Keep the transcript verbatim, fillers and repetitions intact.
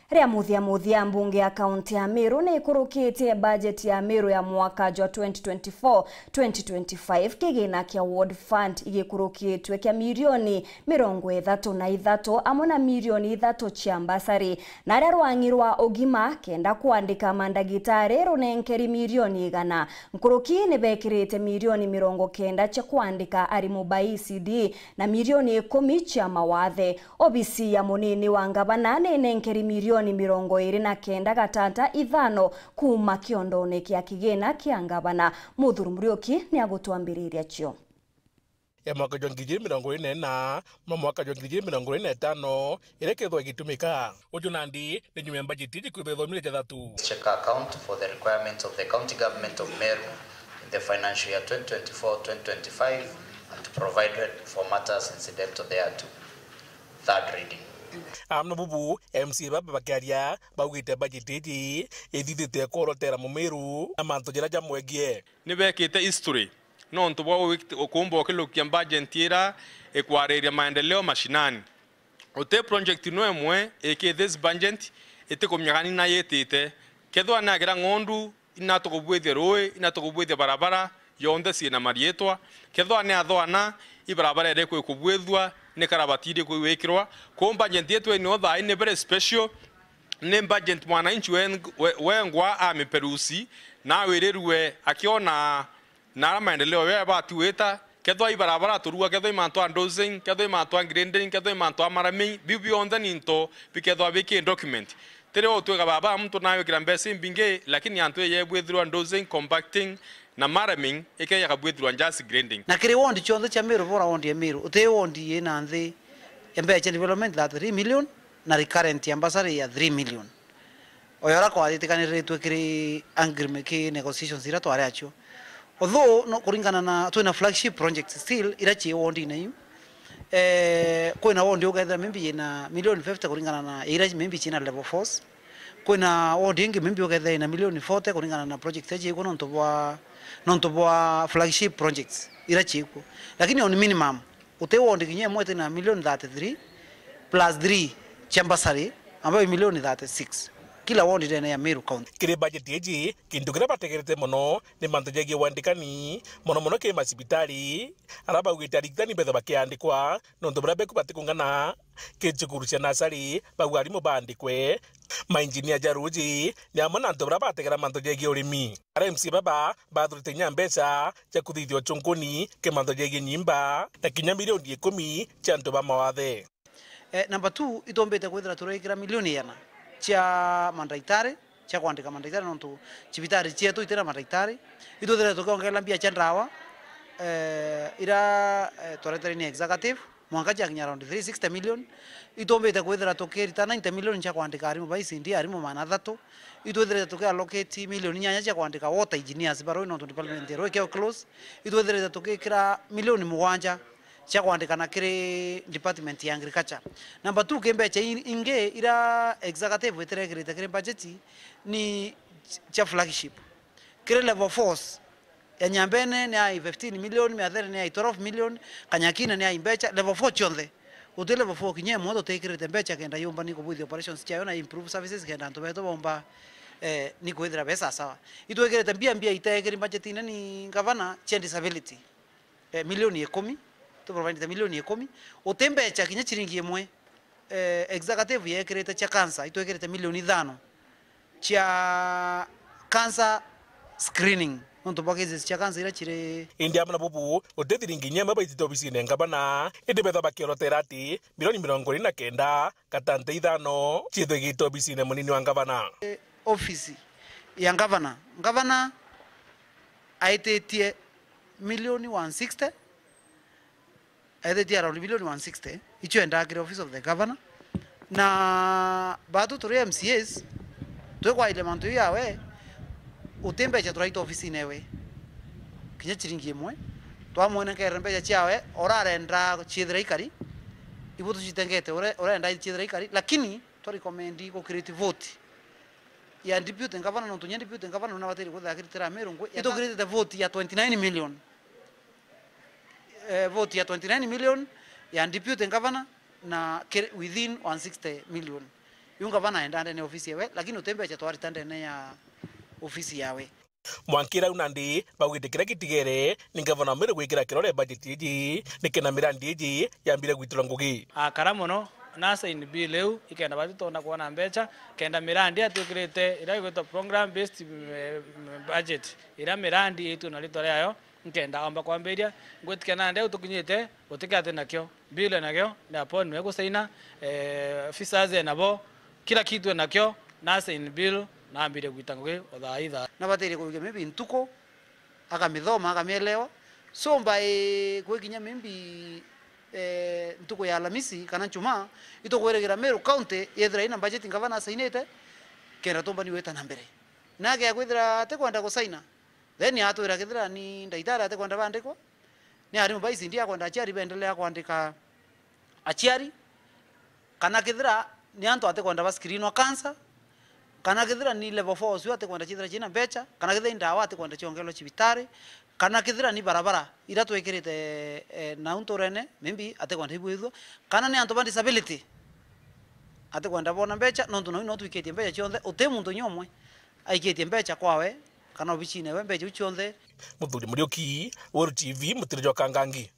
Ria muthia muthia, mbunge ya kaunti ya Meru ni ikurukitie bajeti ya Meru ya mwaka jwa twenty twenty-four twenty twenty-five, kigina kia Ward Fund igikurukitwe kia milioni mirongo ithatu na ithatu, amwe na milioni ithatu cia mbasari, na aria rwang'i rwa ugima kenda kwandika mandagitari runenkeri milioni igana. Nkuruki ni bekirite milioni mirongo kenda cia kwandika arimu ba E C D na milioni ikumi cia mawathe. Obisi ya munini wa ngavana ni inenkeri milioni mirongo iri na kenda gatata ithano kuuma kiondone kia kigina kia ngavana. Muthuri Muriuki ni agutwambiriria cio. Ya mwaka jwa ngiri igiri mirongo iri na ina na mwaka jwa ngiri igiri mirongo iri na itano iria ikethwa igitumika. Uju nandi ni nyuma ya mbajeti iji kwithwa ithomire jathatu. Check account for the requirements of the County Government of Meru in the financial year twenty twenty-four twenty twenty-five and provided for matters incidental thereto. Third reading. Amwe na bubu, M C A baba bakiaria baugite bajeti iji ithithite kworotera mumiru na mantu jaria jamwegie. Ni bekite history nontu bwa gwit-, kuumba ukilukia bajeti ira ikwariria maendeleo mashinani. Uti project no imwe iki this budget itikumenya kana ina yitite. Kethwa ni agira ng'ondu, ina tukubwithia rui, ina tukubwithia barabara, yonthe ciina mariitwa. Kethwa ni athwana, i barabara iriku ikubwithua, ni karabati iriku igwikirwa. Kou budget yetu ino thaai ni very special, ni budget mwananchi wen-, we-, wengwa amiperusi, na awirirue akiona na ara maendeleo yo yabati gwita, kethwa i barabara turua, kethwa i mantu a dozing, kethwa i mantu a grading, kethwa i mantu a marraming, biu bionthe ni into bikethwa biki document. Tiri utwika baba muntu nawikira mbeca imbingi, lakini antu eye bwithirwa dozing, compacting na marraming, ikeja kabwithirwa just grading. Na kiri ward cionthe cia Meru, bora ward ya Meru, uti ward ina nthi ya mbeca cia development thirty-three million na recurrent ya bursary ya three million. Oyo ara kwathitikaniriritwe kiri agreement, ki negotiations ira twari acio. Although, no, kuringana na, twina flagship projects still ira cii wardine iu. Eh, kwina ward ukethira maybe yina million fifty kuringana na ira maybe cina level fours. Kwina ward ingi maybe ukethira yina million forty kuringana na project iria ciikuo nontu bwa, nontu bwa flagship projects ira ciikuo. Lakini on minimum, uti ward kinya imwe itina million thirty-three plus three cia bursary, ambayo i million thirty-six. Kila ward ndene ya Meru County. Kiri bajeti iji, kintu kiria bategerete mono ni mantu jegie wandikani, mono mono kiri macibitari, ara baugite arigitani bethe bakiandikwa, nontu baria beku batikungana kiri cukuru cia nasari, bauga arimu baandikwe, mainjinia ja ruji, ni amwe na antu baria bategera mantu jegie urimi. Ara M C A baba bathurite kinya mbeca cia kuthithia uchunkuni kiri mantu jegie nyimba, na kinya milioni ikumi cia antu ba mawathe. Eh, number two, itumbite kwithira turaikira milioni igana cia mandaitari, cia kwandika mandaitari, nontu cibitari cietu itina mandaitari. Itwithire tukiongerera mbia cia ndawa, eh, ira, eh, twaretere ni executive, mwanka ciakinya around three sixty million. Itumbite kwithira tukirita ninety million cia kwandika arimu ba E C D, arimu magana athatu. Itwithirite tukiallocate milioni inyanya cia kwandika water engineers barui, nontu department ya rui ikio close. Itwithirite tukikira milioni mugwanja cia kwandikana kiri department ya agriculture. Number two, ki mbeca i-, ingi ira executive itirekirite kiri budget ni cia flagship. Kiri level fours, ya Nyambene ni ai fifteen million, Miathere ni ai twelve million, Kanyakina ni ai mbeca, level four cionthe. Guti level four kinya imwe tutikirite mbeca kenda yumba ni kubwithia operations ciayo na improve services kenda antu betu baumba, eh, ni kwithira be sawasawa. Itwikirite mbia mbia itekiri budgetine ni ngavana cia disability. Eh, milioni ikumi, tu provide milioni ikumi, uti mbeca kinya ciringi imwe, eh, executive yekirite cia cancer, itwikirite milioni ithano cia cancer screening, nontu bwa cases cia cancer iria ciri. Indi amwe na bubu, uti thiringi inya imwe baitite obisine ya ngavana, indi betha bakiorotera ati milioni mirongo iri na kenda gatante ithano ciithigite obisine munini wa ngavana. Eh, ofisi ya ngavana, ngavana aititie milioni one sixty, aithitie around milioni one sixty, icio endaga kiri office of the governor. Na batu turi M C As, twikwaile mantu iu yawe, uti mbeca turaita ofisine ewe. Kinya ciringi imwe, twamwonekere mbeca ciawe, urarenda ciithira ikari, ibu tucitengete, ure-, urenda ciithira ikari, lakini twa recommend gukiriti vote ya deputy governor, nontu nya deputy governor nabataire kwithira akiritira Meru ngui. Itukiritite vote ya twenty nine million. Eh, vote ya twenty nine million ya deputy governor na kiri-, within one sixty million. Yu ngavana aenda ndene ya ofisi yawe, lakini uti mbeca twarita ndene ya ofisi yawe. Mwankira au nandi baugite kiria gitigere ni ngavana wa Meru gwikira kirore bajeti iji, nikenda mirandi iji yambire gwitirwa ngugi. Akara mono na sign bill iu, ikenda bati twona kwona mbeca, kenda mirandi atwikirite iria igwitwa program based, eh, budget, iria mirandi itwe na ritwa riayo, nkenda omba kwambiria, ngwitikia nandi au tukinyite, gutikati nakio. Bill enakio, ni appointment gusaina, eh, officers enabo, kila kitu enakio, na sign bill, na ambire gwita ngugi o thaa ithaa. Na batiri kurukia maybe ntuku, akamithoma, akamielewa. So by gwikinya maybe, eh, ntuku ya Alamisi kana Njumaa, itukwirigira Meru County yethira ina budget ngavana asainite, kenda tumbani gwita na mbere. Na agia kwithira atikwenda gusaina, then atwira kethira ni ndagitari atikwenda bandikwa, ni arimu ba E C D akwenda aciari bendelea kwandika aciari, kana kethira ni antu atikwenda ba screenwa cancer, kana kethira ni level four ucio atikwenda ciithira ciina mbeca, kana kethira ni ndawa atikwenda ciongerwa cibitari, kana kethira ni barabara ira twikirite, eh, nau nturene, maybe atikwenda ibwithua, kana ni antu ba disability atikwenda bona mbeca, nontu nau no twikitie mbeca cionthe, uti muntu inya umwe aikitie mbeca kwawe kana obicine ewe mbeca iu cionthe. Muthuri Muriuki, Weru T V, Mutiri jwa Kangangi.